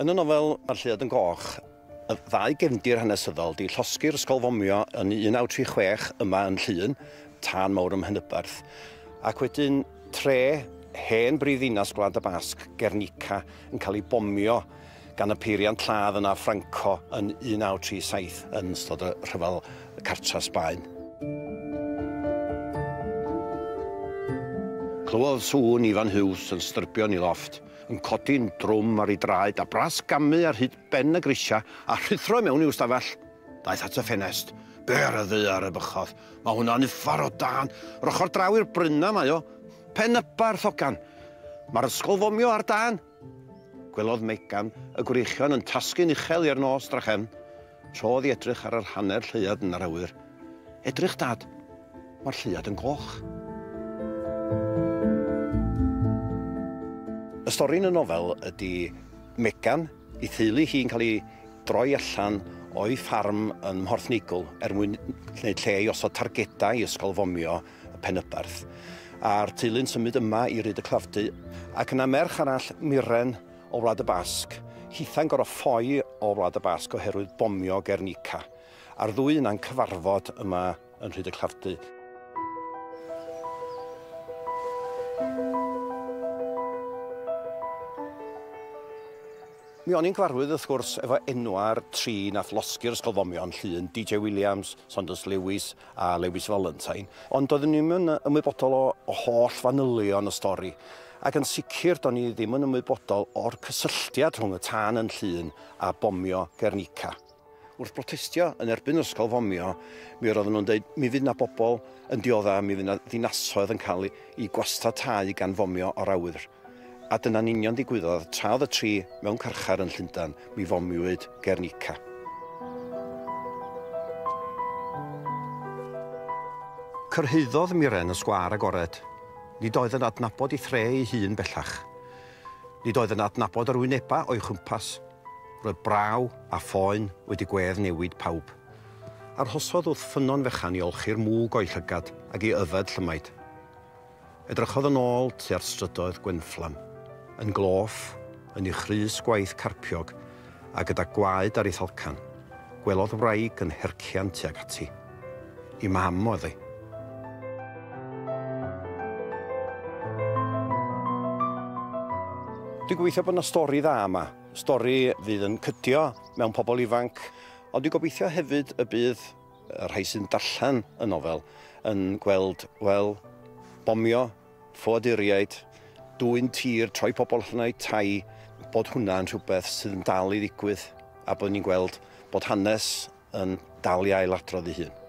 Yn y nofel Mae'r Lleuad yn Goch, y ddau gefndir hanesyddol 'di llosgi'r ysgol fomio yn 1936 yma yn Llŷn, tân mawr ym Mhenyberth, ac wedyn tre hen brifddinas Gwlad y Basg, Gernika, yn cael ei bomio gan y peiriant lladd yna Franco yn 1937 yn ystod y rhyfel cartra Sbaen. Clywodd sŵn Ifan Huws yn styrbio yn ei lofft, yn codi'n drwm ar ei draed a brasgamu ar hyd ben y grisiau a rhuthro i mewn i'w stafell. Daeth at y ffenest. Be ar y ddaear, ebychodd. Mae hwnna'n uffar o dân. Yr ochr draw i'r brynna mae o. Penybarth, hogan. Mae'r ysgol fomio ar dân. Gwelodd Megan y gwreichion yn tasgu'n uchel i'r nos drachefn. Trodd i edrych ar yr hanner lleuad yn yr awyr. Edrych, Dad. Mae'r lleuad yn goch. Y stori yn y nofel ydy Megan, ei theulu hi'n cael ei droi allan o'i ffarm yn Mhorthneigl er mwyn gwneud lle i osod targedau i ysgol fomio y Penyberth. A'r teulu'n symud yma i Ryd y Clafdy, ac yna merch arall, Miren, o Wlad y Basg, hitha'n gorfod ffoi o Wlad y Basg oherwydd bomio Gernika. A'r ddwy yna'n cyfarfod yma yn Rhyd y Clafdy. Mi o'n i'n gyfarwydd wrth gwrs efo enwa'r tri nath losgi'r ysgol fomio yn Llŷn, DJ Williams, Saunders Lewis a Lewis Valentine, ond doeddwn i'm yn ymwybodol o, o holl fanylion y stori. Ac yn sicr do'n i ddim yn ymwybodol o'r cysylltiad rhwng y tân yn Llŷn a bomio Guernica. Wrth brotestio yn erbyn yr ysgol fomio, mi roedden nhw'n dweud mi fydd 'na bobl yn diodda, mi fydd 'na ddinasoedd yn cael eu gwastatáu gan fomio o'r awyr. A dyna'n union ddigwyddodd, tra oedd y tri mewn carchar yn Llundain, mi fomiwyd Guernica. Cyrhaeddodd Mirren y sgwâr agored. Nid oedd yn adnabod ei thre ei hun bellach. Nid oedd yn adnabod yr wynebau o'i chwmpas. Roedd braw a phoen wedi gwedd newid pawb. Arhosodd wrth ffynnon fechan i olchi'r mwg o'i llygad ac i yfed llymaid. Edrychodd yn ôl tua'r strydoedd gwenfflam, yn gloff, yn ei chrys gwaith carpiog a gyda gwaed ar ei thalcan, gwelodd wraig yn hercian tuag ati. I mam oedd hi. Dwi'n gobeithio bod 'na stori dda yma. Stori fydd yn cydio mewn pobl ifanc, ond dwi'n gobeithio hefyd y bydd y rhai sy'n darllen y nofel yn gweld, wel, bomio, ffoaduriaid, dwyn tir, troi pobl allan o'u tai, bod hwnna yn rhywbeth sydd yn dal i ddigwydd a bod ni'n gweld bod hanes yn dal i ailadrodd ei hun.